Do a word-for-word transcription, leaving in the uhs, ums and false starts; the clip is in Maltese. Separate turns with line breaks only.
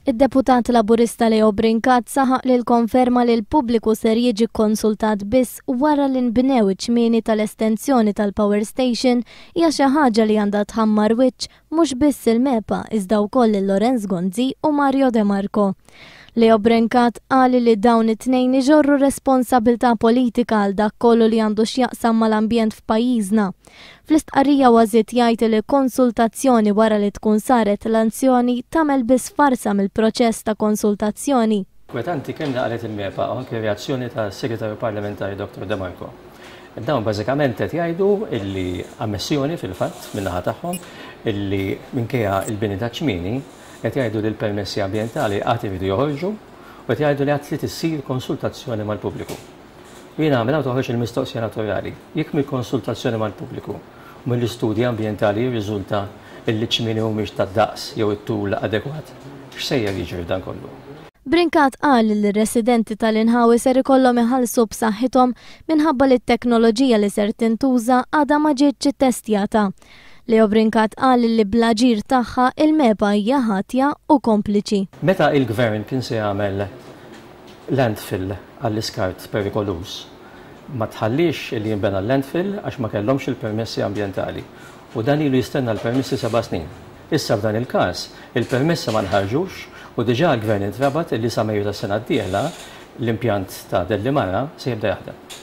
Id-deputat Laburista Leo Brincat saħaq li l-konferma li l-pubbliku ser jiġi konsultat biss wara li nbnew iċ-ċmieni tal-estensjoni tal-power station hija xi ħaġa li għandha tħammar wiċċ mhux biss il-MEPA iżda wkoll lil Lawrence Gonzi u Mario De Marco. Leo Brincat qal li dawn it-tnejn iġorru responsabilità politika għal dak kollu li għandu x'jaqsam mal-ambjent f'pajjiżna. Fl-istqarrija żied jgħid li konsultazzjoni wara li tkun saret l-azzjoni tagħmel biss farsa mill-proċess ta' konsultazzjoni.
Kwetanti kemm qalet il-MEPA u anke reazzjoni tas-Segretarju Parlamentari Dottor De Marco. Dawn bażikament qed jgħidu illi ammissjoni fil-fatt min-naħa tagħhom illi minkejja il-bini ta' ċmieni qed jgħidu li l-permessi ambjentali għad iridu joħorġu u qed jgħidu li għad trid issir konsultazzjoni mal-pubbliku. Jiena minn hawn toħroġ il-mistoqsija naturali. Jekk mill-konsultazzjoni mal-pubbliku u mill-istudji ambjentali jirriżulta illi ċmieni mhumiex tad-daqs jew it-tul adekwat, x'sejjer jiġri f'dan kollu?
Brincat qal li r-residenti tal-inħawi ser ikollhom iħallsu b'saħħithom minħabba li t-teknoloġija li ser tintuża għadha ma ġietx ittestjata. Leo Brincat qal li bl-aġir tagħha il-MEPA hija ħatja u kompliċi.
Meta il-gvern kien se jagħmel landfill għall-iskart perikoluż, ma tħallix li jinbena l-landfill għax ma kellhomx il-permessi ambjentali. U dan ilu jistenna l-permessi seba' snin. Issa f'dan il-każ, il-permessi ma nħarġux u diġà l-gvern intrabat li sa Mejju tas-sena d-dieħla l-impjant ta' Dellimara se jibda jaħdem.